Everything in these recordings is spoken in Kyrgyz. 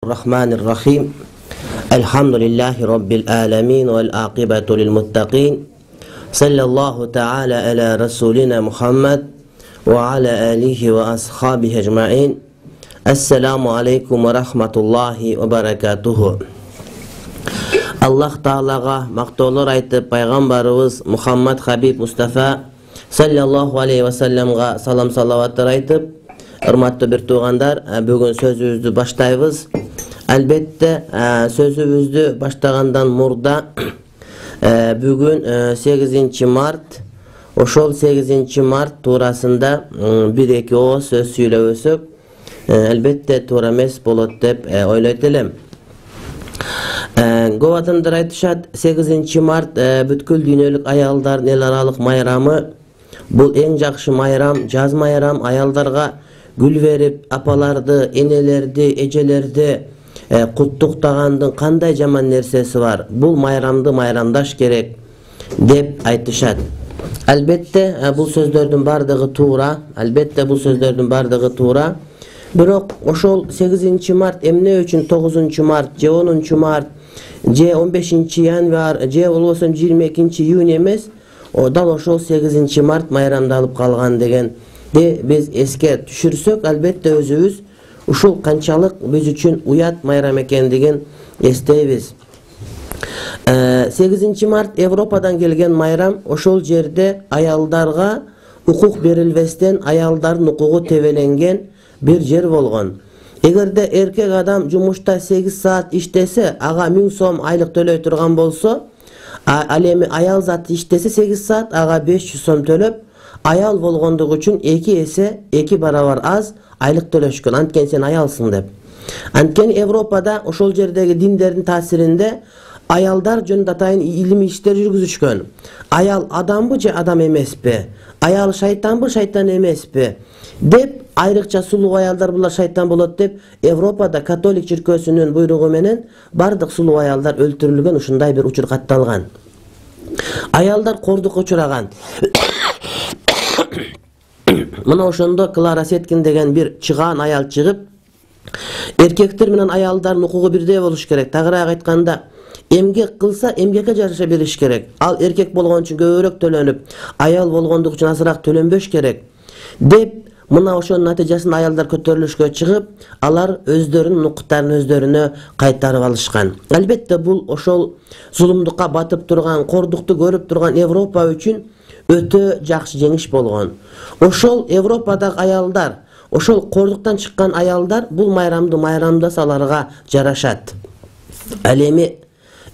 Rahmanir-Rahim. Elhamdülillahi Rabbil alamin vel aqibatu lil muttaqin. Sallallahu ta'ala ala rasulina Muhammed ve ala alihi ve ashabihi ecmaîn. Esselamu aleykum ve rahmetullahi ve berekatuhu. Allah Ta'alaga maqtoolor aytıp paygambarыбыз Muhammed Habib Mustafa sallallahu aleyhi ve sellemga salam salavatlar aytıp, hurmatly bir tuğandar, bugün sözübüzdü başlayбыз. Elbette sözübüzdü başlagandan murda bugün 8 Mart, oşol 8 Mart tuurasında bir-iki o söz söylöbüsük. Elbette tuura emes bolot dep ойлойт элем. Көп адамдар айтышат, 8 Mart бүткүл дүйнөлүк аялдардын эл аралык майрамы. Бул эң жакшы майрам, жаз майрам, аялдарга гүл берип, апаларды, энелерди, эжелерди куттуктагандын кандай жаман нерсеси бар? Бул майрамды майрамдаш керек деп айтышат. Албетте бул сөздөрдүн бардыгы туура, албетте бул сөздөрдүн бардыгы туура. Бирок ошол 8 Март эмне үчүн 9 Март, же 10 Март, же 15 Январь, же болбосо 22 июнь эмес, дал ошол 8 Март майрамдалып калган дегенди биз эске түшүрсөк, албетте өзүбүз ушул канчалык биз үчүн уят майрам экендигин эстейбиз. 8 Март Европадан келген майрам. Ошол жерде аялдарга укук берилбестен аялдардын укугу тебеленген bir жер болгон. Эгерде эркек адам жумушта 8 саат иштесе, ага 1000 сом айлык төлөй турган болсо, ал эми аял заты иштесе 8 саат, ага 500 сом төлөп, аял болгондугу үчүн 2 эсе, 2 барабар аз айлык төлөшкөн. Анткени сен аялсың деп. Анткени Европада ошол жердеги диндердин таасиринде аялдар жөнүндө атайын илимий иштер жүргүзүшкөн. Аял адамбы же адам эмеспи? Аял шайтанбы, шайтан эмеспи? Деп айрыкча сулуу аялдар булар шайтан болот деп Европада католик чиркөөсүнүн буйругу менен бардык сулуу аялдар өлтүрүлгөн, ушундай бир учур катталган. Аялдар кордукка учураган. Мына ошондо Клара Сеткин деген бир чыгаан аял чыгып, эркектер менен аялдардын укугу бирдей болуш керек. Тагыраак айтканда, эмгек кылса эмгекке жараша бериш керек. Ал эркек болгон үчүн көбүрөөк төлөнүп, аял болгондугу үчүн азыраак төлөнбөш керек деп, мына ошонун натыйжасында аялдар көтөрүлүшкө чыгып, алар өздөрүнүн укуктарын өздөрүнө кайтарып алышкан. Албетте бул ошол зулумдукка батып турган, кордукту көрүп турган Европа үчүн өтө жакшы жеңиш болгон. Ошол Европадагы аялдар, ошол кордуктан чыккан аялдар бул майрамды майрамдаса аларга жарашат. Ал эми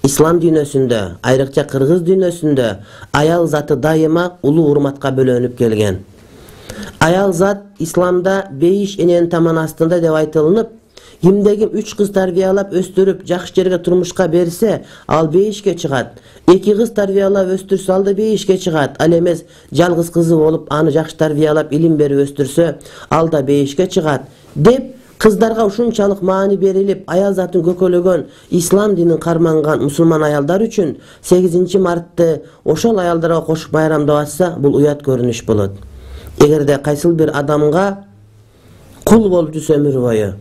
ислам дүйнөсүндө, айрыкча кыргыз дүйнөсүндө аял заты дайыма улуу урматка бөлөнүп келген. Аял зат исламда 5 эненин таман астында деп айтылынып, кимде-ким 3 кыз тарбиялап өстүрүп жакшы жерге турмушка берсе, ал 5ке чыгат. 2 кыз тарбиялап өстүрсө, ал да 5ке чыгат. Ал эмес жалгыз кызы болуп, аны жакшы тарбиялап илим берип өстүрсө, ал да 5ке чыгат деп кыздарга ушунчалык маани берилип, аял затын көкөлөгөн ислам динин карманган мусулман аялдар үчүн 8 Мартты ошол аялдарга кошуп майрамдап атса, бул уят көрүнүш болот. Эгерде кайсыл бир адамга кул болуп жүрсө өмүр бою,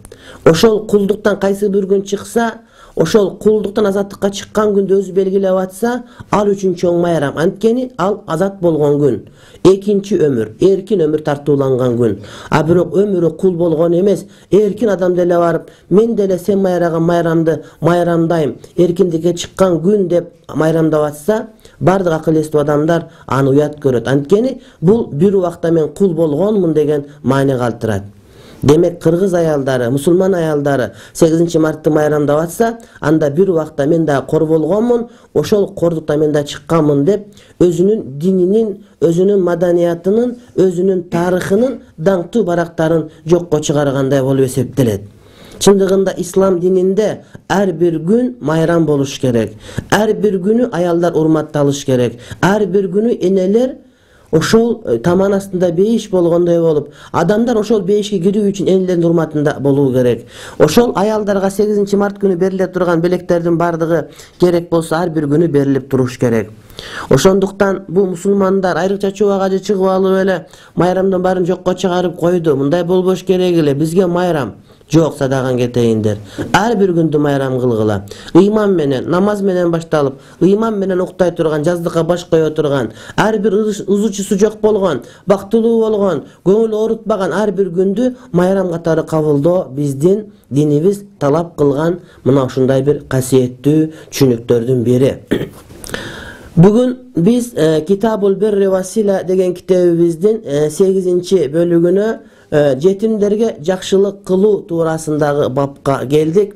ошол кулдуктан кайсы бир күн чыкса, ошол кулдуктан азаттыкка чыккан күндү өзү белгилеп атса, ал үчүн чоң майрам. Анткени ал азат болгон күн, экинчи өмүр, эркин өмүр тартууланган күн. А бирок өмүрү кул болгон эмес, эркин адам деле барып, мен деле сен майраган майрамды майрамдайм, эркиндикке чыккан күн деп майрамдап атса, бардык акыл эстүү адамдар аны уят көрөт. Анткени бул бир убакта мен кул болгонмун деген маани калтырат. Демек кыргыз аялдары, мусулман аялдары 8 Мартты майрамдап атса, анда бир убакта мен да кор болгонмун, ошол кордукта мен да чыкканмын деп өзүнүн дининин, өзүнүн маданиятынын, өзүнүн тарыхынын даңктуу барактарын жокко чыгаргандай болуп эсептелет. Чындыгында ислам дининде ар бир күн майрам болуш керек. Ар бир күнү аялдар урматталыш керек. Ар бир күнү энелер ошол таман астында бейиш болгондой болуп, адамдар ошол бейишке кирүү үчүн энелердин урматында болуу керек. Ошол аялдарга 8-март күнү бериле турган белектердин бардыгы керек болсо ар бир күнү берилип туруш керек. Ошондуктан бул мусулмандар айрыкча чубак ажы чыгып алып эле майрамдын баарын жокко чыгарып койду. Мындай болбош керек эле. Бизге майрам жок, садаган кетейиндер. Ар бир күндү майрам кылгыла. Ыйман менен, намаз менен башталып, ыйман менен уктай турган, жаздыкка баш кое турган, ар бир ызычысы жок болгон, бактылуу болгон, көңүл оорутпаган ар бир күндү майрам катары кабылдоо биздин динибиз талап кылган мына ушундай бир касиеттүү түшүнүктөрдүн бири. Бүгүн биз Китабул Бирри ва Сила деген китебибиздин 8-бөлүгүнө жетимдерге жакшылык кылуу туурасындагы бапка келдик.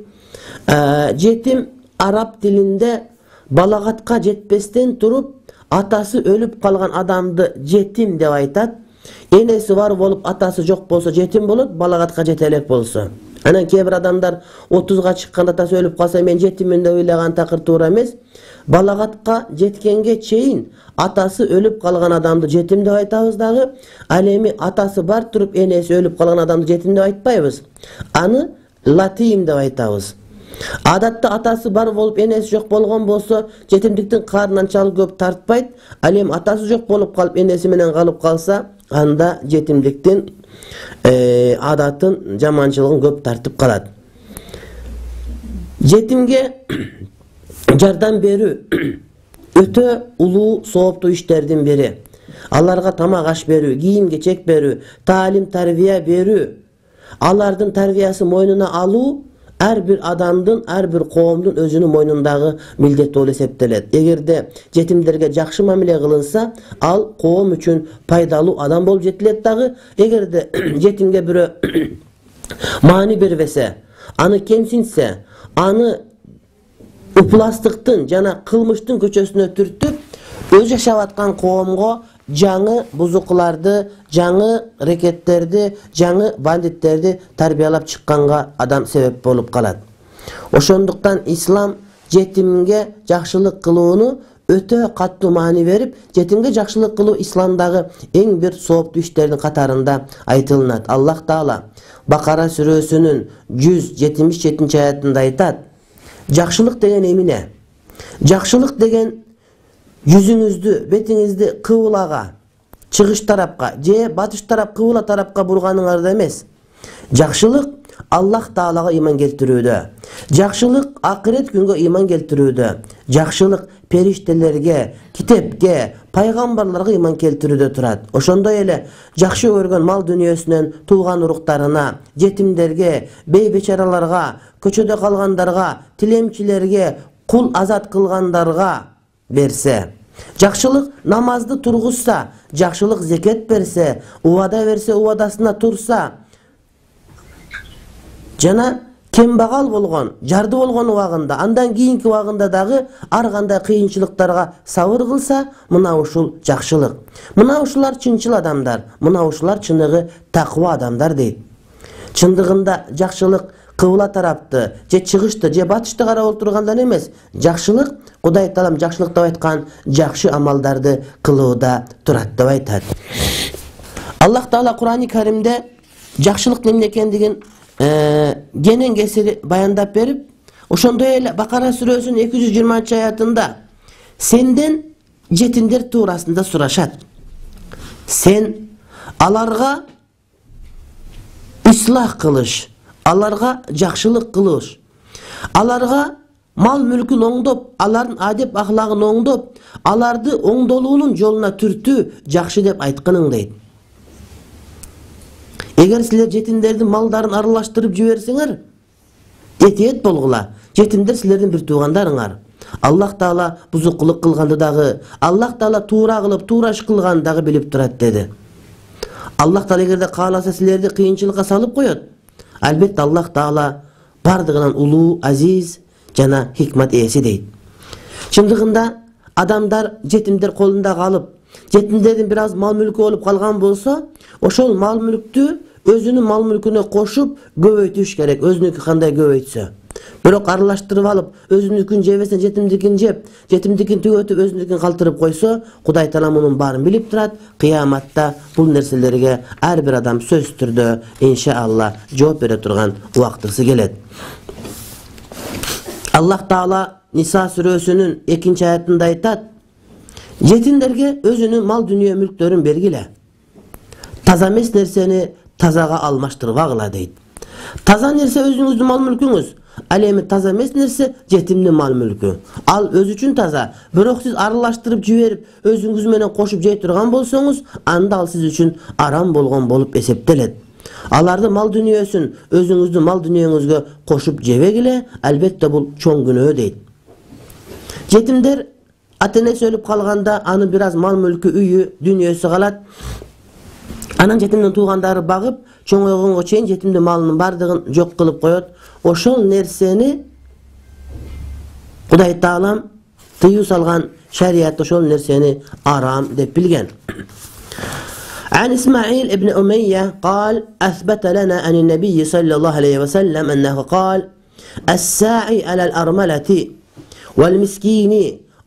Жетим араб тилинде балагатка жетпестен туруп атасы өлүп калган адамды жетим деп айтат. Энеси бар болуп атасы жок болсо жетим болот, балагатка жете элек болсо. Анан кээ бир адамдар 30га чыкканда атасы өлүп калса мен жетиммин деп ыйлаган такыр туура эмес. Балагатка жеткенге чейин атасы өлүп калган адамды жетим деп айтабыз дагы. Ал эми атасы бар туруп энеси өлүп калган адамды жетим деп айтпайбыз. Аны латим деп айтабыз. Адатта атасы бар болуп энеси жок болгон болсо жетимдиктин карынын анчалык көп тартпайт. Ал эми атасы жок болуп калып энеси менен калып калса, анда жетимдиктин адатын, жаманчылыгын көп тартып калат. Жетимге жардам берүү өтө улуу сооптуу иштердин бири. Аларга тамак аш берүү, кийим кечек берүү, таалим тарбия берүү, алардын тарбиясын мойнуна алуу ар бир адамдын, ар бир коомдун өзүнүн мойнундагы милдет болуп эсептелет. Эгерде жетимдерге жакшы мамиле кылынса, ал коом үчүн пайдалуу адам болуп жетилет дагы. Эгерде жетимге бирөө маани бербесе, аны кемсинтсе, аны упластыктын жана кылмыштын көчөсүнө түртүп, өз жашап аткан коомго жаңы бузукуларды, жаңы рекеттерди, жаңы бандиттерди тарбиялап чыкканга адам себеп болуп калат. Ошондуктан ислам жетимге жакшылык кылууну өтө каттуу маани берип, жетимге жакшылык кылуу исламдагы эң бир сооптуу иштердин катарында айтылынат. Аллах Таала Бакара сүрөсүнүн 177 аятында айтат: жакшылык деген эмне? Жакшылык деген жүзүңүздү, бетиңизди кыбылага, чыгыш тарапка же батыш тарап, кыбыла тарапка бурганыңарда эмес. Жакшылык Аллах Таалага ыйман келтирүүдө. Жакшылык акырет күнгө ыйман келтирүүдө. Жакшылык периштелерге, китепке, пайгамбарларга ыйман келтирүүдө турат. Ошондой эле жакшы көргөн мал дүнүйөсүнөн тууган уруктарына, жетимдерге, бейбечараларга, көчөдө калгандарга, тилемчилерге, кул азат кылгандарга берсе. Жакшылык намазды тургузса, жакшылык зекет берсе, убада берсе, убадасына турса, жана кембагал болгон, жарды болгон убагында, андан кийинки убагында дагы ар кандай кыйынчылыктарга сабыр кылса, мына ушул жакшылык. Мына ушулар чынчыл адамдар, мына ушулар чыныгы таква адамдар дейт. Чындыгында жакшылык кыбыла тарапты, же чыгышты, же батышты карап олтургандан эмес, жакшылык Кудай Таалам жакшылык деп айткан жакшы амалдарды кылууда турат деп айтат. Аллах Таала Кур'ан-ы Каримде жакшылык эмне экендигин кенен кесири баяндап берип, ошондой эле Бакара сүрөсүнүн 220 аятында сенден жетимдер туурасында сурашат. Сен аларга ислах кылыш, аларга жакшылык кылыш, аларга мал мүлкүн оңдоп, алардын адеп ахлагын оңдоп, аларды оңдолуунун жолуна түртүү жакшы деп айтканың дейт. Эгер силер жетимдердин малдарын аралаштырып жиберсеңер, этиет болгула. Жетимдер силердин бир туугандарыңар. Аллах Таала бузукулук кылганды дагы, Аллах Таала туура кылып, туура иш кылганды дагы билип турат деди. Аллах Таала эгерде кааласа силерди кыйынчылыкка салып коет. Албетте Аллах Таала бардыгынан улуу, азиз жана хикмат ээси дейт. Чындыгында адамдар жетимдер колунда калып, жетимдердин бир аз мал мүлкү болуп калган болсо, ошол мал мүлктү өзünün mal mülküne koşup göbeytüş gerek. Özünükü kanday göbeytse. Bирок аралаштырып алып, өзүнүкүн жебесин жетимдикин жеп, жетимдикин түгөтүп, өзүнүкүн калтырып койсо, Кудай Таала мунун баарын билип турат. Кыяматта бул нерселерге ар бир адам сөзсүз түрдө иншаалла жооп бере турган убактысы келет. Аллах Таала Ниса сүрөсүнүн 2-аятында айтат: жетимдерге өзүнүн мал дүнүйө мүлктөрүн бергиле. Таза эмес нерсени тазага алмаштырбагыла дейт. Таза нерсе өзүңүздүн мал мүлкүңүз. Ал эми таза эмес нерсе жетимдин мал мүлкү. Ал өзү үчүн таза, бирок сиз аралаштырып жиберип, өзүңүз менен кошуп жей турган болсоңуз, анда ал сиз үчүн арам болгон болуп эсептелет. Алардын мал дүнүйөсүн өзүңүздүн мал дүнүйөңүзгө кошуп жебегиле, албетте бул чоң күнөө дейт. Жетимдер ата-энеси өлүп калганда анын бир аз мал мүлкү, үйү, дүнүйөсү калат. Анан жетимдин туугандары багып, чоңойгонго чейин жетимдин малынын бардыгын жок кылып коет. Ошол нерсени Кудай Таалам тыюу салган, шарият ошол нерсени арам деп билген. عن إسماعيل ابن أمية قال: أثبت لنا أن النبي صلى الله عليه وسلم أنه قال: الساعي على الأرملة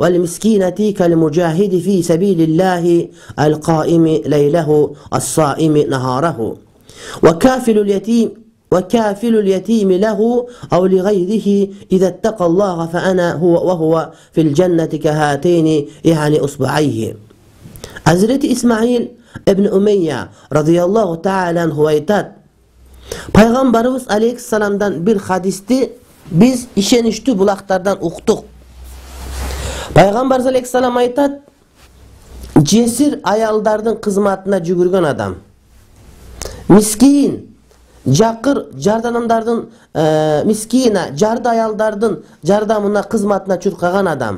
والمسكينة كالمجاهد في سبيل الله القائم ليله الصائم نهاره وكافل اليتيم له أو لغيره إذا اتقى الله فأنا وهو في الجنة كهاتين يعني أصبعيه. Hazreti İsmail ibn Umeyye radıyallahu ta'ala anhu aytat: Peygamberimiz aleyhisselamdan bir hadisti biz işenişli bulaklardan uktuk. Peygamberimiz aleyhisselam aytat: Cesir ayaldardın kızmatına jügürgön adam, miskin, jakır jardanamdardın miskina, jarda ayaldardın jardamına kızmatına çurkagan adam.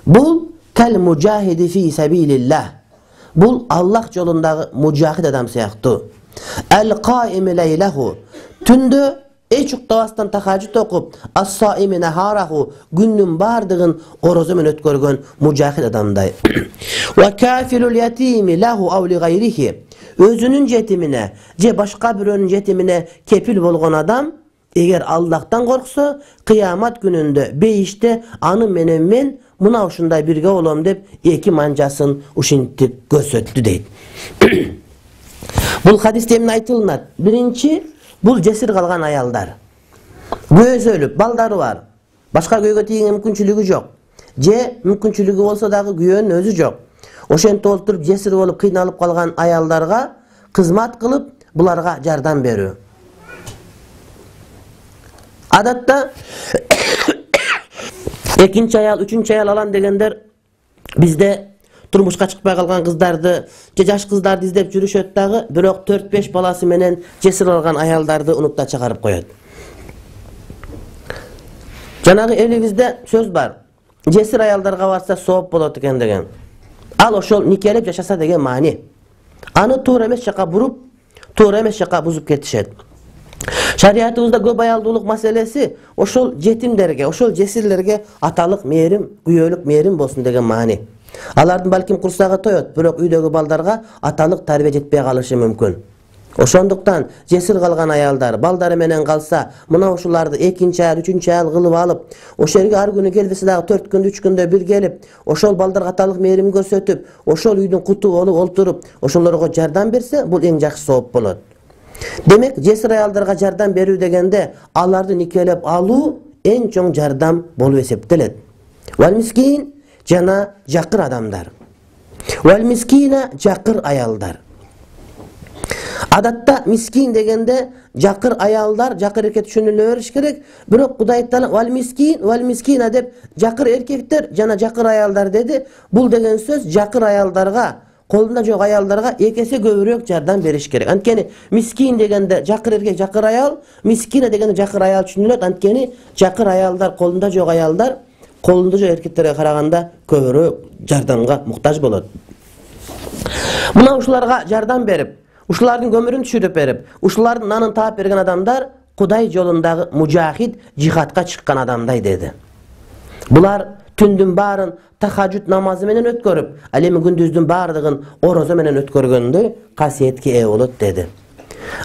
Bul kal mujahidi fi sabilillah. Bul Allah yolundagı mujahid adam siyaqtı. El qaimi leylehu. Tündü hiç uktavastan tahajjud okup, as-saimi naharahu, günnün bardığın orozu men ötkörgön mujahid adamday. Ve kafilul yetimi lahu aw li gayrihi. Özünün yetimine, je başka birinin yetimine kepil bolgon adam, eğer Allah'tan korksa, kıyamet gününde beyişte anı men muna uşunday birge olom dep eki manjasın uşintip gösöttü deyt. Bul hadiste emne aytılınat. Birinci, bul cesir kalgan ayaldar. Göğüsü ölüp, baldары var. Başka göğe tiyinge mümkünçülügü jok. Je mümkünçülügü olsa dağı göğünün özü jok. Oşenti olturup cesir olup kıynalıp kalgan ayaldarga kızmat kılıp bularga jardan berүү. Adatta ekinci ayal, üçüncü ayal alan degenler bizde turmuşka çıkpay kalgan kыздарды, jaş kыздарды izdep жүрүшөt dagı, bирок 4-5 balası menen cesir algan ayaldardı unutda çıkarıp koyot. Janagı elibizde söz var. Cesir ayaldarga barsa sooп bolot eken degen. Al oşol nikelep yaşasa degen mani. Anı toğra emes jaka burup, toğra emes jaka buzup ketişet. Şariatımızda көп ayaldуулuk maselesi oşol jetimlerge, oşol jesirlerge atalık merim, güyölük merim bolsun degen mani. Alardın balkim kursaga toyot, bирок üydөгү baldarga atalık tarbiye jetpey kalışı mümkün. Oşonduktan jesir kalgan ayaldar, baldары menen kalsa, mına oşulardı ekinci ayal, üçüncü ayal kılıp alıp, oşerge ar günü gelbesi dağı 4 gün, 3 günde bir gelip, oşol baldarga atalık merim görsötüp, oşol üydün kutu olup olturup, oşollarga jardan berse, bul en jakşı sooп bolot. Demek cesir ayaldarga jardan berүү degende alardı nikelep alуу en çoң jardam bolup eseptelet. Vel miskin jana jakır adamlar. Vel miskina jakır ayaldar. Adatta miskin degende jakır ayaldar, jakır erkek düşünülüp beriş gerek. Bирок Kuday Taala vel miskina dep jakır erkekler jana jakır ayaldar dedi. Bul degen söz jakır ayaldarga, kolunda jok ayaldarga ekese көбүрөөк жардам бериш керек. Анткени miskin degende jakır erkek, jakır ayal, miskina degende jakır ayal түшүнүлөт. Анткени jakır ayalдар, kolunda jok ayalдар, kolunda jok erkekтерге караганда көбүрөөк жардамга муктаж болот. Мына ушуларга жардам берип, ушулардын көмүрүн түшүрүп берип, ушулардын нанын таап берген адамдар Кудай жолундагы мужахид, жихадка чыккан адамдай dedi. Булар түндүн баарын tahajjud namazı menen ötkөрүp, ал эми күндүздүн баардыгын орозо менен өткөргөндөй касиетке ээ болот dedi.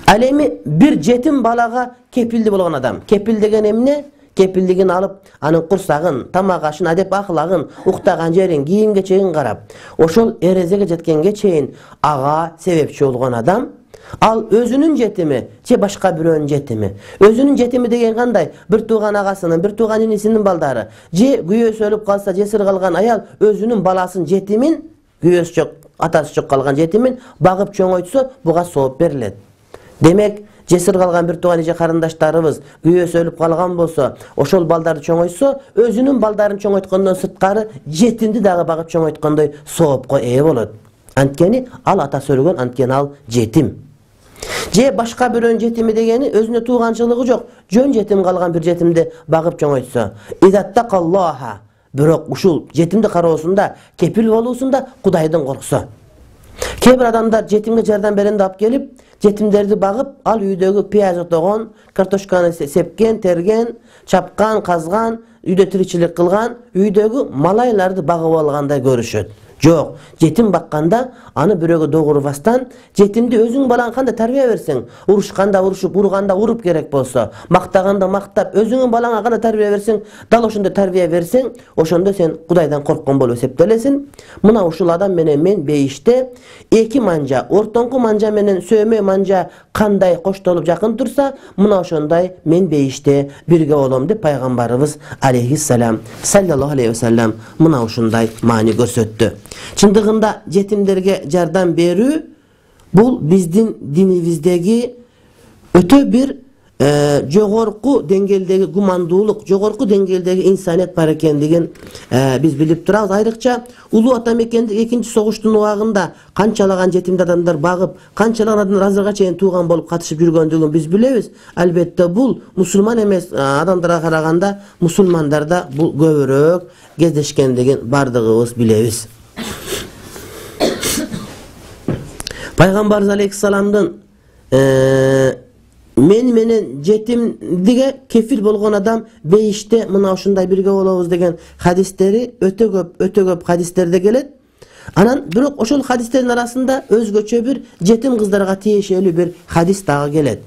Ал эми бир жетим балага кепилди болгон адам. Кепил деген эмне? Кепилдигин алып, анын курсагын, тамак ашын, адеп ахлагын, уктаган жерин, кийим кечегин карап, ошол эрезеге жеткенге чейин ага себепчи болгон адам, ал өзүнүн жетими же башка бирөөнүн жетими. Өзүнүн жетими деген кандай? Бир тууган агасынын, бир тууган инисинин балдары, же күйөөсү өлүп калса, жесир калган аял өзүнүн баласын жетимин, күйөөсү жок, атасы жок калган жетимин багып чоңойтсо, буга сооп берилет. Демек, жесир калган бир тууган эже карындаштарыбыз күйөөсү өлүп калган болсо, ошол балдарды чоңойтсо, өзүнүн балдарын чоңойткондон сырткары жетимди дагы багып чоңойткондой соопко ээ болот. Анткени ал атасы өлгөн, анткени ал жетим. Же башка бирөөнүн жетими дегени өзүнө тууганчылыгы жок, жөн жетим калган бир жетимди багып чоңойтсо. Идаттакаллаха. Бирок ушул жетимди кароосунда, кепил болуусунда Кудайдын корксо. Кээ бир адамдар жетимге жардам беренди алып келип, жетимдерди багып, ал үйдөгү пияз отогон, картошканы сепкен, терген, чапкан, казган, үйдө тиричилик кылган, үйдөгү малайларды багып алгандай көрүшөт. Жок, жетим бакканда аны бирөөгө догурбастан, жетимди өзүң балаң кандай тарбия берсең, урушканда урушуп, урганда уруп керек болсо, мактаганда мактап, өзүңүн балаңа кандай тарбия берсең, дал ошондой тарбия берсең, ошондо сен Кудайдан корккон болуп эсептелесиң. Мына ушул адам менен мен бейиште эки манжа, ортоңку манжа менен сөөмө манжа кандай коштолуп жакын турса, мына ошондой мен бейиште бирге болом деп пайгамбарыбыз алейхиссалам саллаллаху алейхи ва саллям мына ушундай маани көрсөттү. Чындыгында жетимдерге жардам берүү бул биздин динибиздеги өтө бир жогорку деңгээлдеги гумандуулук, жогорку деңгээлдеги инсаният бар экендигин биз билип турабыз. Айрыкча улуу ата мекенде экинчи согуштун убагында канчалаган жетимди адамдар багып, канчалаган адамдар азырга чейин тууган болуп катышып жүргөндүгүн биз билебиз. Албетте бул мусулман эмес адамдарга караганда мусулмандарда бул көбүрөөк кездешкендигин бардыгыбыз билебиз. Пайгамбарыбыз алейхиссаламдын мен менен жетимдиге кефил болгон адам бейиште мына ушундай бирге болобуз деген хадистери өтө көп хадистерде келет. Анан бирок ошол хадистердин арасында өзгөчө бир жетим кыздарга тиешелүү бир хадис дагы келет.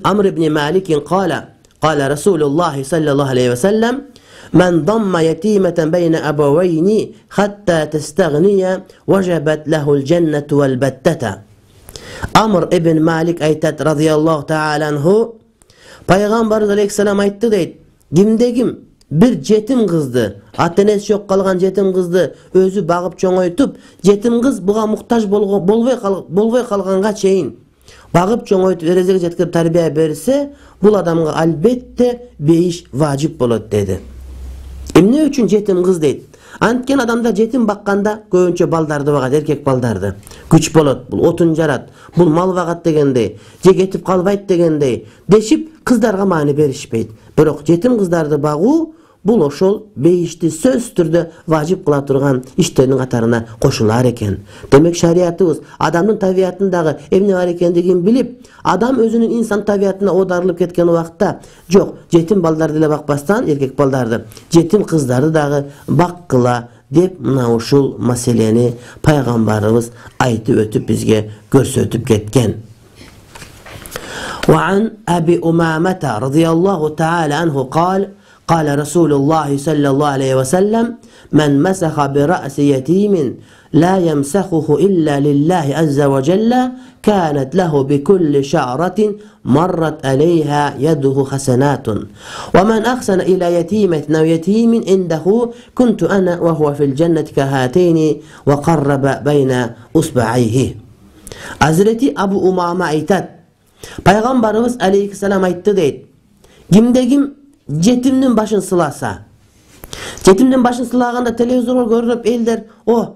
Амр ибн Малик qala Rasulullah sallallahu aleyhi ve sellem Men damma yetimeten beyne abawayni hatta testaghniya wajabat lahul cennetu vel betteta. Amr ibn Malik aytat radıyallahu ta'ala anhu, Peygamberimiz aleyhisselam aytты deyt, kimde bir jetim kızdı, atenesi yok kalgan jetim kızdı özü bağıp çoğoytup, jetim kız buğa muhtaç bolbay kalganga çeyin bağıp çoğoytup erezege jetkirip tarbiya berse, bul adamga albette beyiş vacip bolot dedi. Emne üçün jetim kız deyt? Antken adamda jetim bakkanda көбүнчө балдарды багат, эркек балдарды. Күч болот, бул отун жарат, бул мал багат дегендей, же кетип калбайт дегендей дешип кыздарга маани беришпейт. Бирок жетим кыздарды багуу бул ошол бейишти сөзсүз түрдө важип кыла турган иштердин катарына кошулар экен. Демек шариятыбыз адамдын табиятындагы эмне бар экендигин билип, адам өзүнүн инсан табиятына оодарылып кеткен убакта, жок, жетим балдарды эле бакпастан, эркек балдарды, жетим кыздарды дагы баккыла деп мына ушул маселени пайгамбарыбыз айтып өтүп бизге көрсөтүп кеткен. وعن أبي أمامة رضي الله تعالى عنه قال رسول الله صلى الله عليه وسلم من مسح برأس يتيم لا يمسخه إلا لله عز وجل كانت له بكل شعرة مرت عليها يده حسنات ومن أحسن إلى يتيمة أو يتيم عنده كنت أنا وهو في الجنة كهاتين وقرب بين أصبعيه. Hazreti Abu Umama aytat, Peygamberimiz aleyhisselam aytты deyt, kimde jetimdin başın sılasa. Jetimdin başın sılaganda televizorga görünüp elder,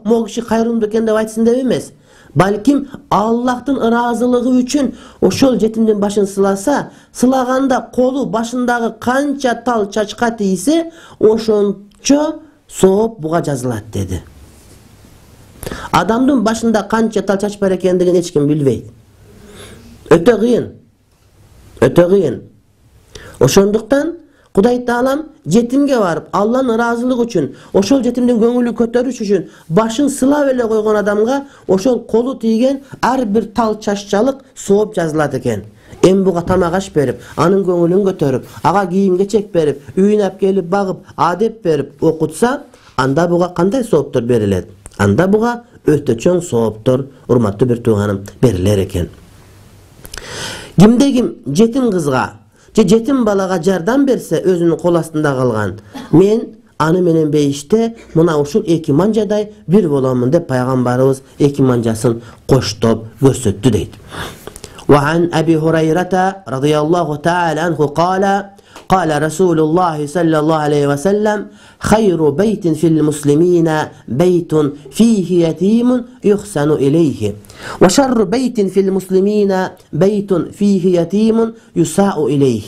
mo kişi kayrımdı eken dep aytsın dep emes. Balkim Allah'tın ırazılığı üçün oşol jetimdin başın sılasa, sılaganda kolu başındagı kança tal çaçka tiyse, oşonço soğup buğa жазылат dedi. Adamdın başında kança tal çaç bar ekendigin hiç kim bilbeyt. Öte kıyın. Oşonduktan Kuday Taalam жетимге барып Алланын ыраазылыгы үчүн, ошол жетимдин көңүлүн көтөрүш үчүн башын сылап эле койгон адамга ошол колу тийген ар бир тал чашчалык сооп жазылат экен. Эми буга тамак аш берип, анын көңүлүн көтөрүп, ага кийим-кечек берип, үйүнө алып келип багып, адеп берип окутса, анда буга кандай сооптор берилет? Анда буга өтө чоң сооптор, урматтуу бир тууганым, берилер экен. Кимде ким жетим кызга же жетим балага жардам берсе, өзүнүн кол астында калган, мен аны менен бейиште мына ушул эки манжадай бир боломун деп пайгамбарыбыз эки манжасын коштоп көрсөттү дейт. وعن أبي هريرة رضي الله تعالى عنه قال رسول الله صلى الله عليه وسلم خير بيت في المسلمين بيت فيه يتيم يحسن إليه وشر بيت في المسلمين بيت فيه يتيم يساء إليه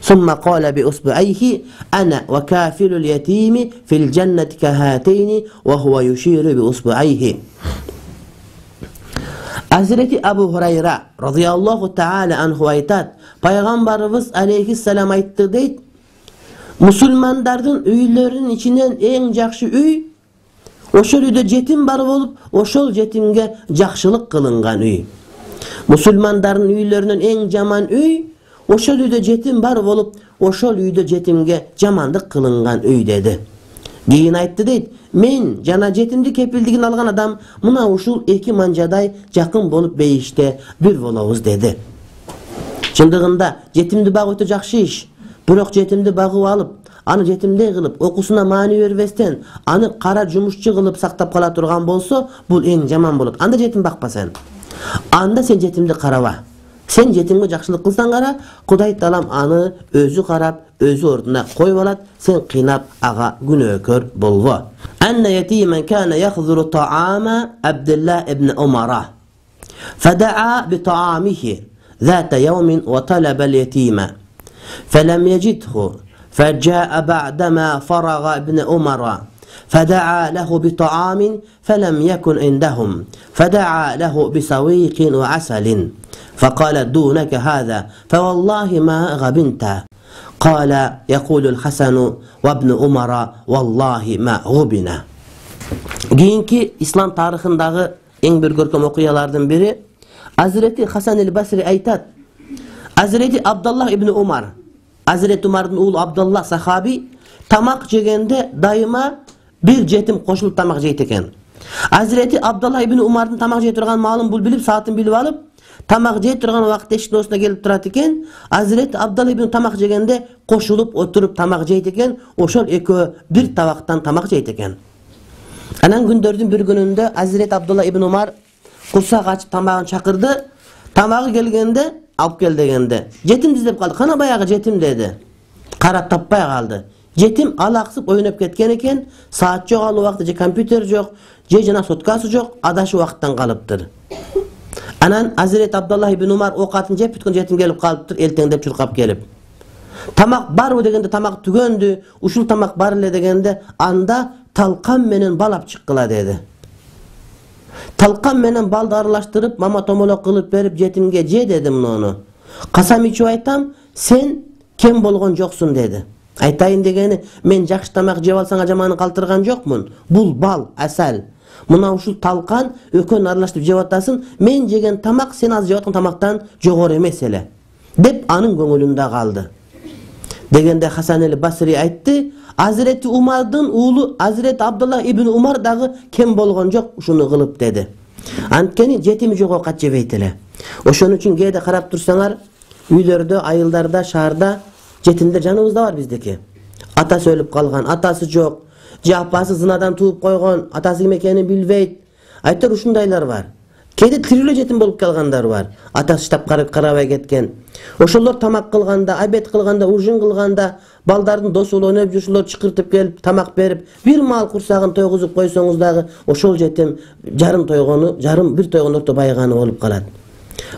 ثم قال بأصبعيه أنا وكافل اليتيم في الجنة كهاتين وهو يشير بأصبعيه. Hazreti Abu Hurayra radıyallahu ta'ala anhu aytat, Peygamberimiz aleyhisselam aytты deyt, musulmandardın üylörünün içinden en jakşı üy, oşol üyde jetim bar bolup, oşol jetimge jakşılık kılıngan üy. Musulmandardın üylörünün en jaman üy, oşol üyde jetim bar bolup, oşol üyde jetimge jamandık kılıngan üy dedi. Keyin aytты deyt, men jana jetimdi kepildigin algan adam muna uşul eki manjaday jakın bolup beyişte bir bolobuz dedi. Çındığında jetimdi bagı ötө jakşı iş. Bирок жетимди багып алып, аны жетимдей кылып, окуусуна маани бербестен, аны кара жумушчу кылып сактап кала турган болсо, бул эң жаман болот. Анда жетим бакпа сен. Анда сен жетимди караба. Sen jetimge jakşılık kılsan kara, Kuday talam anı özü karap, özü orduna koyup alat, sen kıynap ağa günökör bolgo. Enne yetimen kana yakhzuru ta'ama Abdullah ibn Umara. Feda'a bi ta'amihi zata yevmin ve talabel yetime. Felem yecidhu. فجاء بعدما فرغ ابن عمر فدعا له بطعام فلم يكن عندهم فدعا له بسويق وعسل فقال دونك هذا فوالله ما غبنت قال يقول الحسن وابن عمر والله ما غبنا. Keyinki İslam tarixindagi eng bir görkem okuyalardan biri Hazreti Hasan el-Basri aytat, Hazreti Abdullah ibn Umar, Hazreti Umar'ın oğlu Abdullah sahabi tamak jegende daima bir jetim koşulup tamak jeyt eken. Hazreti Abdullah ibn Umar'ın tamak jey turgan malın bul bilip, saatın bilip alıp, tamak jey turgan wagtda eşik dostuna gelip turat eken. Hazreti Abdullah ibn tamak jegende koşulup oturup tamak jeyt eken. Oşol ekөө bir tabaktan tamak jeyt eken. Anan gündördün bir gününde Hazreti Abdullah ibn Umar kursak açıp tamagын çakırdı. Tamagı gelgende alıp gel degende. Jetim izlep kaldı. Kana bayağı jetim dedi. Karap tapпай kaldı. Jetim alaksıp oynap ketken eken. Saat jok alı wagtda, je kompüter jok, je jana sotkası jok, adaşı wagttan kalıptır. Anan Hazreti Abdullah ibn Umar okatın jep bütkün jetim gelip kalıptır, eltengdep çurkap gelip. Tamak barбы degende tamak tügöndü, uşul tamak bar ele degende anda talkan menen balap çıkkıla dedi. Talkan menen baldı arılaştırıp mama tomolok kılıp berip jetimge je dedim onu. Kasam içip aytam, sen kem bolgon joksun dedi. Aytayın degeni, men jakşı tamak jep alsang ajamany kaltırgan jokmun. Bul bal, asal. Muna uşul talkan ökön arılaştırıp jep atasın, men jegen tamak sen az jep atkan tamaktan jogor emes ele. Dep anın көңүлүндө kaldı. Degende Hasan el-Basri aytты, Hazreti Umar'dın oğlu Hazreti Abdullah ibn Umar dağı kem bolgon jok uşunu kılıp dedi. Antkeni jetimi jok okat jebeyt ele. Oşon üçün kээде karap tursaňar, üylörde, ayıllarda, şaharda jetimler janыбызda var bizdeki. Atası ölüp kalgan, atası jok, je apası zınadan tuup koygon, atası kim ekenini bilbeyt. Aytar uşundaylar var. Kээде tiriyle jetim bolup kalgandar var. Atası ştap karabay ketken. Oşolor tamak kılganda, abet kılganda, urjun kılganda, baldardın dostu oynap jurşulor çıkırtıp gelip tamak berip, bir mal kursagın toyguzup koysoňuz dagı oşol jetim jarım toygonu, jarım bir toygon orta baygany bolup kalat.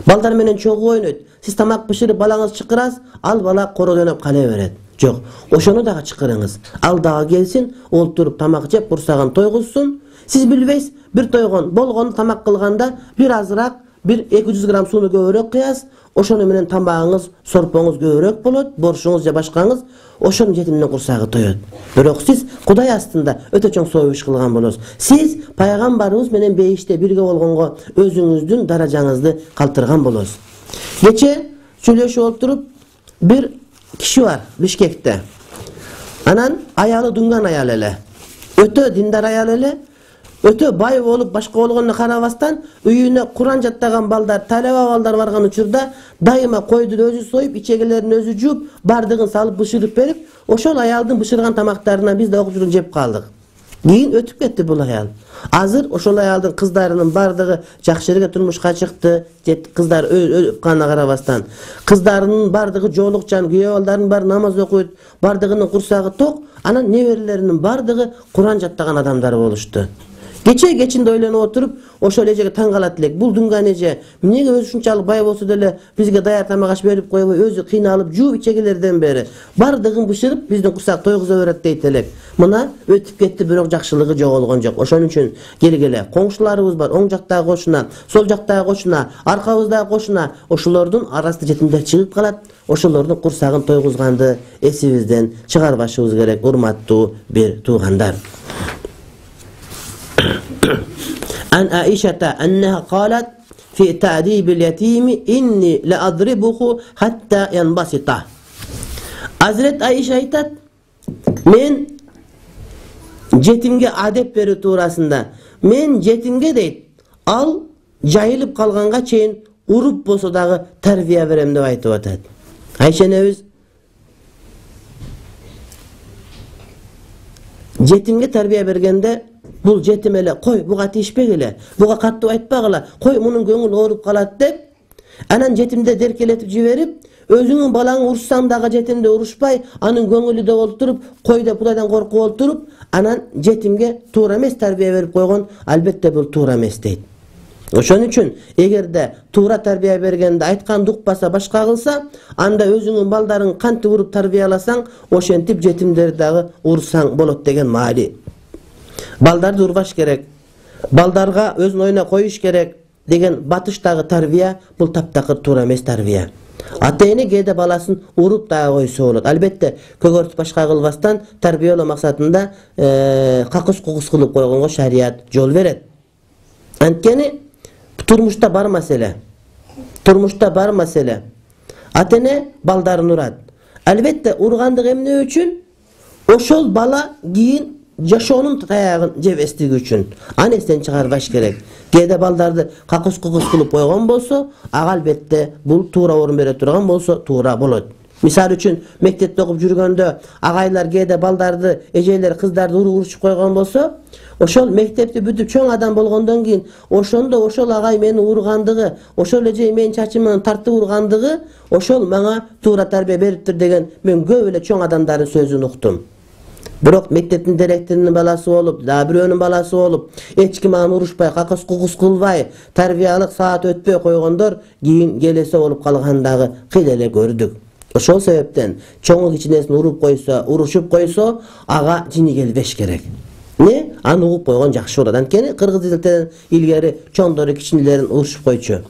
Baldar menen çoğu oynayt. Siz tamak pişirip balаңыз çıkıras, al bala koro oynap kala beret. Jok, oşonu dagı çıkırыңыз. Al dagı gelsin, olturup tamak jep kursagın toyguzsun. Siz bilbeys bir toygon bolgonu tamak kılganda bir azırak bir 200 gram suyunu köpürөөк kıyas, oşonu менен tamağınız, sorpoңuz köpürөөк bolot, boruşuңuz ya başkaňız, oşonun jetimden kursagı toyot. Bирок siz Kuday astında öte çoň soýuş kılgan bolosuz. Siz Paýgambarыбыз менен beyişte birge bolgongo özüňüzdün darajaňyzdy kaltırgan bolosuz. Geçe söýleşip oturup bir kişi var Bişkekte. Anan ayalı dungan ayal ele. Öte dindar ayal ele. Öte bay bolup başka bolgonuna karabastan üyüne Kur'an jattagan balдар, talaba balдар bargan учурда дайыма койду өзү союп, ичегелерин өзү жууп, бардыгын салып бышырып берип, ошол аялдын бышырган тамактарынан биз да окуп жүрүп жеп калдык. Кийин өтүп кетти бул аял. Азыр ошол аялдын кыздарынын бардыгы жакшы жерге турмушка чыкты, кыздар кана карабастан. Кыздарынын бардыгы жоолукчан, күйөө балдарын баары намаз окуйт, бардыгынын курсагы ток, анан неберелеринин бардыгы Кур'ан жаттаган адамдар болушту. Кечинде ойлонуп отуруп, ошол эжеге таң калат элек. Бул дунган эже эмнеге өзү ушунчалык бай болсо деле бизге даяр тамак аш берип койбой, өзү кыйналып жууп ичегелерден бери бардыгын бышырып, биздин курсак тойгуза берет дейт элек. Мына өтүп кетти, бирок жакшылыгы жоголгон жок. Ошон үчүн келгиле, коңшуларыбыз бар, оң жактагы кошуна, сол жактагы кошуна, аркабыздагы кошуна, ошолордун арасында жетимдер чыгып калат. Ошолордун курсагын тойгузганды эсибизден чыгарбашыбыз керек, урматтуу бир туугандар. عن عائشة أنها قالت في تأديب اليتيم إني لأضربه حتى ينبسط. Hazret Ayşe aytat, men jetimge adep beri tuurasında, men jetimge deyt, al jayılıp kalganga çeyin urup bolso dagı tarbiya berem dep aytıp atat. Ayşe nebiz jetimge tarbiya bergende bul jetim ele, koy buga tiyişpegile, buga kattı aytpagıla, koy munun göңүl ооруп kalat dep, anan jetimde derkeletip jiberip, özüňün balaňy ursaň dagı jetimde uruşpay, anın göңүlü de olturup, koy dep Kudaydan korkup olturup, anan jetimge tuura emes tarbiya berip koygon, albatta bul tuura emes deyt. Oşon üçin egerde tuura tarbiya bergende aytkan dukpasa başka kılsa, anda özüňün baldaryň kanty urup tarbiyalasaň, oşentip jetimleri dagı ursaň bolot degen maali. Baldарды urbaş gerek, baldarga özün oyuna koyuş gerek degen batıştagı tarbiya bul taptakır tuura emes tarbiya. Ata-ene kede balasın urup da koysa bolot. Albatta kөгөртүп başka kılbastan tarbiyaloo maksatında kakыс-kukус kılıp koygongo şariat jol beret. Antkeni turmuşta bar mesele. Turmuşta bar mesele. Ata-ene baldaryn urat. Albatta urgandyk emne üçün oşol bala giyin jaşoonun tayagын jep estigi üçün anestен чыгарбаш керек. Кээде балдарды какыс-кукус кылып койгон болсо, ага албетте бул туура орун бере турган болсо, туура болот. Мисал үчүн, мектепте окуп жүргөндө агайлар кээде балдарды, эжелер кыздарды урушуп койгон болсо, ошол мектепти бүтүп чоң адам болгондон кийин, ошондо ошол агай мени ургандыгы, ошол эже менин чачымдан тартып ургандыгы, ошол мага туура тарбия бериптир деген мен көп эле чоң адамдардын сөзүн уктум. Бирок мектептин директорунун баласы болуп, да бирөөнүн баласы болуп, эч ким аны урушпай, какыс-кукус кылбай, тарбиялык саат өтпөй койгондор кийин келесе болуп калгандагы кыйла эле көрдүк. Ошол себептен чоңу кичинесин уруп койсо, урушуп койсо, ага жини келбеш керек. Не? Аны угуп койгон жакшы болот. Анткени кыргыз тилинен илгери чоңдору кичинелерин урушуп койчу.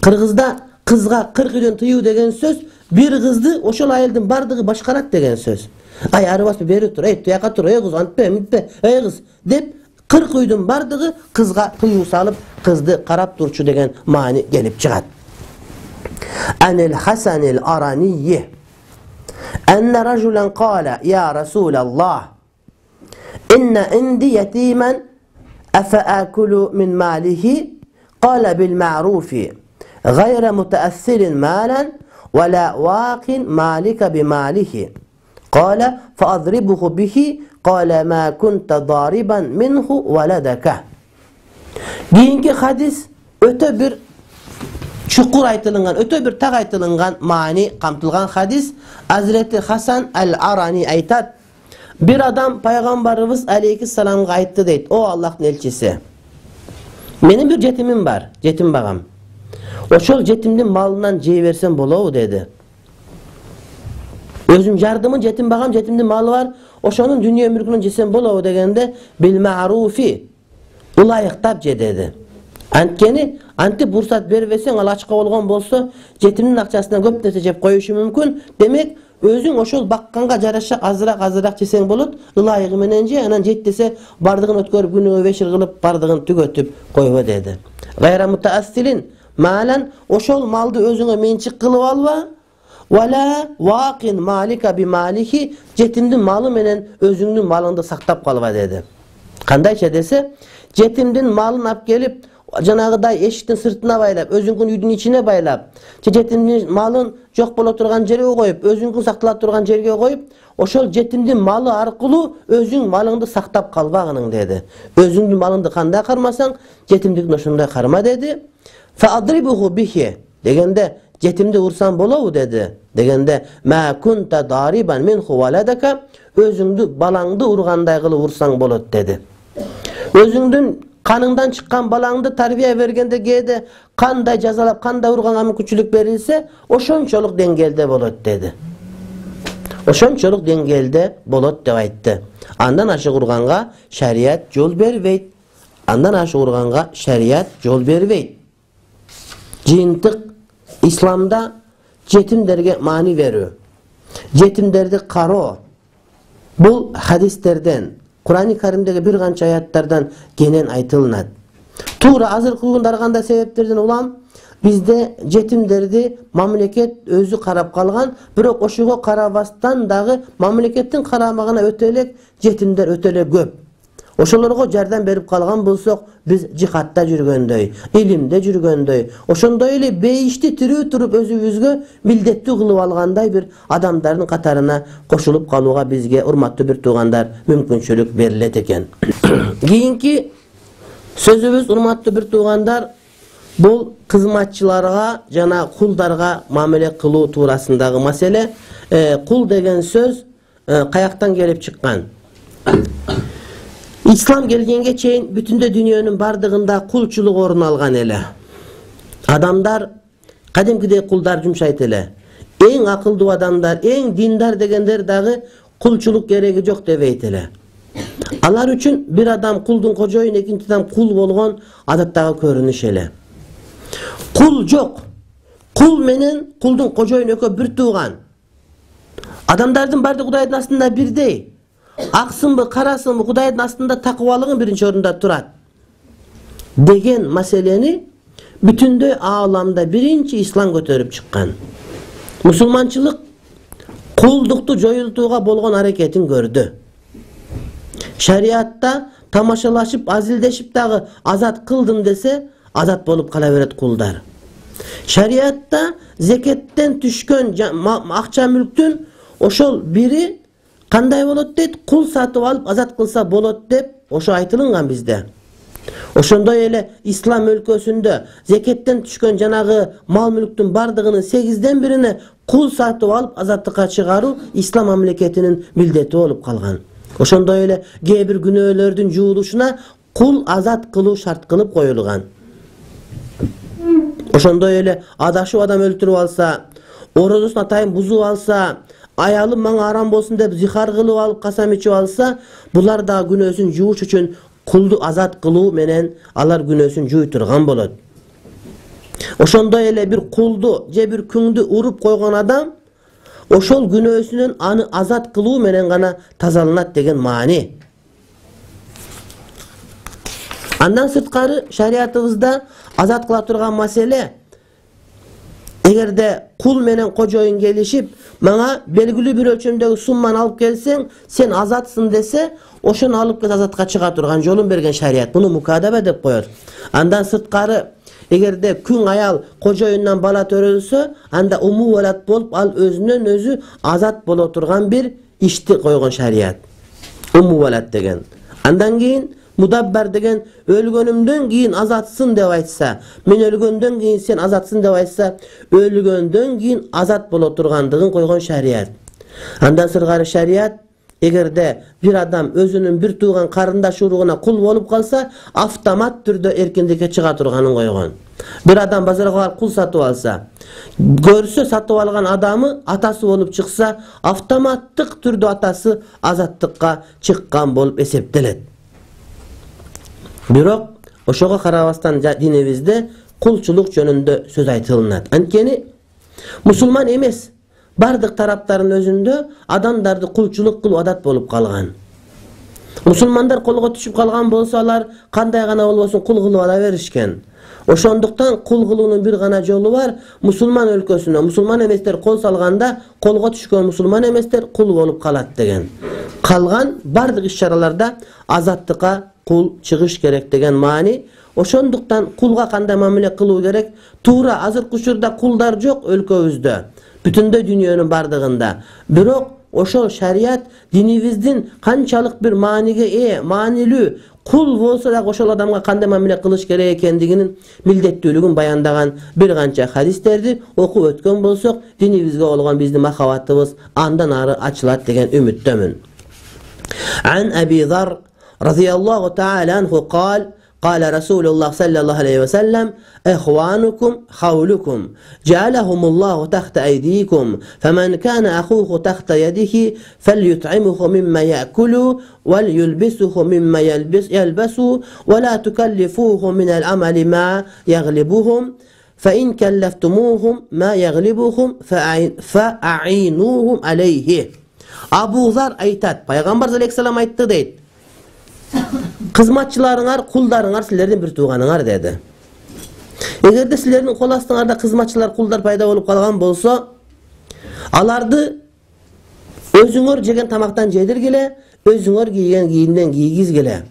Кыргызда кызга 40 үйдөн тыюу деген сөз, бир кызды ошол айылдын бардыгы башкарат деген сөз. Ай арыбаспы бери тур, эй туяка тур, эй кыз антпе, митпе, эй кыз деп 40 үйдүн бардыгы кызга тыюу салып, кызды карап турчу деген маани келип чыгат. Анил Хасанил Аранiyyi Enne rajulan qala ya Rasulallah inna indi yetiman afa akulu min malihi qala bil ma'rufi غير متأثر مالا ولا واق مالك بماله قال فأضربه به قال ما كنت ضاربا منه ولدك. Keyinki hadis öte bir çukur aytılıngan, öte bir tak aytılıngan mani kamtılgan hadis. Hazreti Hasan el-Arani aytat, bir adam Peygamberimiz aleyhisselam'a ayttı deyt, o Allah'ın elçisi. Benim bir jetimim var, jetim bağam. Oşol jetimdin malından jey versem bolobу dedi. Özüm jardımın jetim bağam, jetimdin malı var, oşonun dünya mülkünün jesem bolobу degende bil ma'rufi ulayıktap je dedi. Antkeni антип уруксат бербесең, ал ачка болгон болсо, жетимдин акчасынан көп нерсе жеп коюшу мүмкүн. Демек, өзүң ошол бакканга жараша азыраак жесең болот, ылайыгы менен же, анан жетпесе бардыгын өткөрүп, күнүгө 5 жыл кылып, бардыгын түгөтүп койбо деди. Гайра мутаассилин малан, ошол малды өзүңө менчик кылып алба. Вала вакин малика би малихи, жетимдин малы менен өзүңдүн малыңды сактап калба деди. Кандайча десе, жетимдин малын алып келип, жанагыдай эшиктин сыртына байлап, өзүңдүн үйдүн ичине байлап, жетимдин малын жок боло турган жерге коюп, өзүңдүн сактала турган жерге коюп, ошол жетимдин малы аркылуу өзүң малыңды сактап калбагының деди. Өзүңдүн малыңды кандай кармасаң, жетимдикин ошондой карма деди. Фадрибуху бихи дегенде, жетимди урсаң болобу деди. Дегенде, ма кунта дарибан минху валадака, өзүңдү балаңды ургандай кылып урсаң болот деди. Өзүңдүн каныңдан чыккан балаңды тарбия бергенде кээде кандай жазалап, кандай урганга мүмкүнчүлүк берилсе, ошончолук деңгээлде болот деди. Ошончолук деңгээлде болот деп айтты. Андан ашык урганга шарият жол бербейт. Андан ашык урганга шарият жол бербейт. Жыйынтык исламда жетимдерге маани берүү, жетимдерди кароо, бул хадистерден, Кур'ан-ы Каримдеги бир канча аяттардан кенен айтылынат. Туура азыркы күндө ар кандай себептерден улам бизде жетимдерди мамлекет өзү карап калган, бирок ошого карабастан дагы мамлекеттин карамагына өтө элек жетимдер өтө эле көп. Ошолорго жардам берип калган болсок, биз жихадта жүргөндөй, илимде жүргөндөй, ошондой эле бейишти тирүү туруп өзүбүзгө милдеттүү кылып алгандай бир адамдардын катарына кошулуп калууга бизге, урматтуу бир туугандар, мүмкүнчүлүк берилет экен. Кийинки сөзүбүз, урматтуу бир туугандар, бул кызматчыларга жана кулдарга мамиле кылуу туурасындагы маселе. Кул деген сөз каяктан келип чыккан? Ислам келгенге чейин бүтүндө дүйнөнүн бардыгында кулчулук орун алган эле. Адамдар кадимкидей кулдар жумшайт эле. Эң акылдуу адамдар, эң диндар дегендер дагы кулчулук кереги жок дебейт эле. Алар үчүн бир адам кулдун кожоюн, экинчи адам кул болгон адаттагы көрүнүш эле. Кул жок. Кул менен кулдун кожоюн экөө бир тууган. Адамдардын баардыгы Кудайдын астында бирдей. Аксынбы, карасынбы, Кудайдын астында такыбалыгы биринчи орунда турат деген маселени бүтүндөй ааламда биринчи ислам көтөрүп чыккан. Мусулманчылык кулдукту жоюлтууга болгон аракетин көрдү. Шариатта тамашалашып, азилдешип дагы азат кылдым десе, азат болуп кала берет кулдар. Шариатта зекеттен түшкөн акча мүлктүн ошол бири кандай болот дейт, кул сатып алып азат кылса болот деп ошо айтылынган бизде. Ошондой эле ислам өлкөсүндө зекеттен түшкөн жанагы мал мүлктүн бардыгынын 8ден бирине кул сатып алып азаттыкка чыгаруу ислам мамлекетинин милдети болуп калган. Ошондой эле кээ бир күнөөлөрдүн жуулушуна кул азат кылуу шарт кылып коюлган. Ошондой эле адашып адам өлтүрүп алса, орозосун атайын бузуп алса, аялым мага арам болсун деп зихар кылып алып касам ичип алса, булар да күнөөсүн жууш үчүн кулду азат кылуу менен алар күнөөсүн жууй турган болот. Ошондой эле бир кулду же бир күңдү уруп койгон адам ошол күнөөсүнөн аны азат кылуу менен гана тазаланат деген маани. Андан сырткары шариятыбызда азат кыла турган маселе, эгерде кул менен кожоюн келишип, мага белгилүү бир өлчөмдөгү сумманы алып келсең, сен азатсың десе, ошону алып кел азатка чыга турган жолун берген шарият. Буну мукадаба деп коет. Андан сырткары, эгерде күң аял кожоюндан бала төрөлсө, анда умувалат болуп, ал өзүнөн өзү азат боло турган бир ишти койгон шарият. Умувалат деген. Андан кийин мудаббар деген өлгөнүмдөн кийин азатсың деп айтса, мен өлгөндөн кийин сен азатсың деп айтса, өлгөндөн кийин азат боло тургандыгын койгон шарият. Андан сырткары шарият, эгерде бир адам өзүнүн бир тууган карындаш уругуна кул болуп калса, автомат түрдө эркиндикке чыга турганын койгон. Бир адам базарга барып кул сатып алса, көрсө сатып алган адамы атасы болуп чыкса, автоматтык түрдө атасы азаттыкка чыккан болуп эсептелет. Бирок ошого карабастан динибизде кулчулук жөнүндө сөз айтылынат. Анткени мусулман эмес бардык тараптардын өзүндө адамдарды кулчулук кылуу адат болуп калган. Мусулмандар колго түшүп калган болсо, алар кандай гана болбосун кул кылып ала беришкен. Ошондуктан кул кылуунун бир гана жолу бар. Мусулман өлкөсүнө мусулман эместер кол салганда, колго түшкөн мусулман эместер кул болуп калат деген. Калган бардык иш-чараларда азаттыкка кул чыгыш керек деген маани. Ошондуктан кулга кандай мамиле кылуу керек? Туура азыркы учурда кулдар жок өлкөбүздө, бүтүндөй дүйнөнүн бардыгында. Бирок ошол шарият динибиздин канчалык бир мааниге маанилүү, кул болсо дагы ошол адамга кандай мамиле кылыш керек экендигинин милдеттүүлүгүн баяндаган бир канча хадистерди окуп өткөн болсок, динибизге болгон биздин махабатыбыз андан ары ачылат деген үмүттөмүн. Ан Аби Зар радhiyallahu ta'ala anhu قال قال رسول الله صلى الله عليه وسلم إخوانكم خولكم جعلهم الله تحت أيديكم فمن كان أخوه تحت يده فليطعمه مما يأكل وليلبسه مما يلبس ولا تكلفوه من العمل ما يغلبهم فإن كلفتموهم ما يغلبهم فأعينوهم عليه. Абу Зар айтат, пайгамбар алейхиссалам айтты дейт. Кызматчыларыңар, кулдарыңар силердин бир тууганыңар деди. Эгерде силердин кол астыңарда кызматчылар, кулдар пайда болуп калган болсо, аларды өзүңөр жеген тамактан жедиргиле, өзүңөр кийген кийимден кийгизгиле.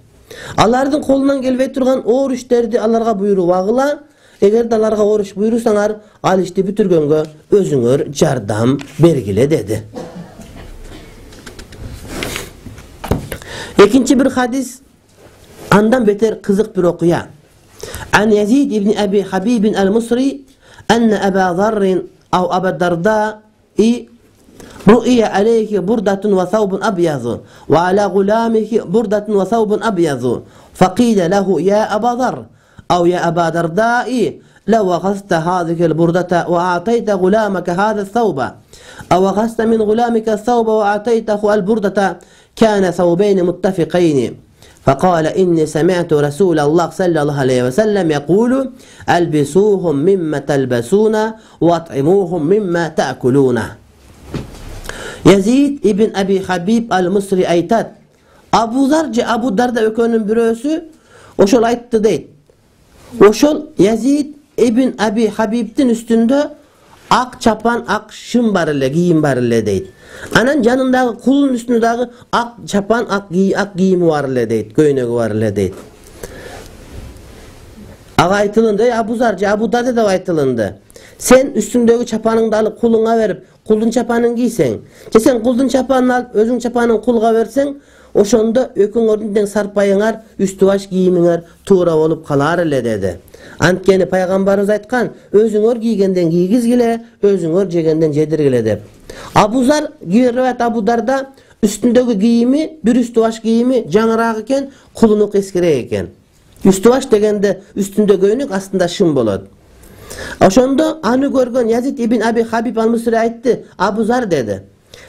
Алардын колунан келбей турган оор иштерди аларга буйрубагыла. Эгерде аларга оор иш буйрусаңар, ал ишти бүтүргөнгө өзүңөр жардам бергиле деди. Экинчи бир хадис andan beter kızık bir okuya. An Yazid ibn Abi Habib al-Musri enne Aba Zarrin av Aba Darda'i ru'iye aleyhi burdatun ve thawbun abyazu ve ala gulamihi burdatun ve thawbun abyazu faqile lehu ya Aba Zar av ya Aba Darda'i لو أخذت هذه البردة وأعطيت غلامك هذا الثوب أو أخذت من غلامك الثوب وأعطيته البردة كان ثوبين متفقين فقال إني سمعت رسول الله صلى الله عليه وسلم يقول ألبسوهم مما تلبسون وأطعموهم مما تأكلون. Yazid ibn Abi Habib al-Musri aytat, Abu Zar Abu Darda ökönün birösü oşol aytты deyt. Oşol Yazid ibn Abi Habib'tin üstünde ak çapan, ak şım bar ele, giyim bar ele deyt. Anan janındağı kulun üstündagi ak çapan, ak giyimi var ele deyt, köynegi var ele deyt. Ağa aytılındı, Abu Zar Abu Darda da aytılındı. Sen üstündeki çapanını da alıp kuluna verip kuldun çapanını giysen, sen kuldun çapanını alıp özün çapanını kulga versen, oşonda öküңөрдүн sarpayıңар, üstü baş giyimiңер tuğra olup kalar ele dedi. Antkeni paygambarımız aytkan, özüңөр giygenden giygizgile, özüңөр jegenden jedirgile dep. Abu Zar rivayet Abu Darda üstündeki giyimi, bir üstü baş giyimi жаңыраак eken, kulunu eskirek eken. Üstü baş degende üstünde göynük aslında şım bolot. Oşonda anı görgön Yazid ibn Abi Habib al-Musri aytты, Abu Zar dedi.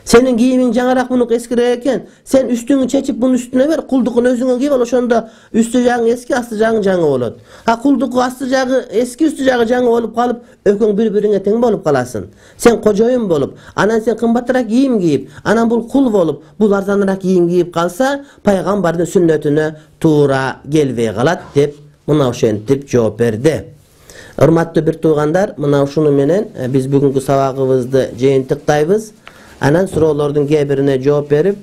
Senin giyimin жаңыраак bunu eskirek eken, sen üstünü çeçip bunun üstüne ver, kuldukun özüňe giyip al, oşonda üstü jağı eski, astı jağı жаңы bolot. Ha kulduku astı jağı eski, üstü jağı жаңы bolup kalıp, öküň bir-birine teң bolup kalasın. Sen kojoyun bolup, anan sen kımbatırak giyim giyip, anan bul kul bolup, bul arzanırak giyim giyip kalsa, paygambardın sünnetine tuğra gelbey kalat dep, mına oşentip жооп berdi. Hurmatly bir tuğandar, mına şunu menen biz bugünkü sabagыбызды жыйынтыктайбыз. Anan sorulardan birine cevap verip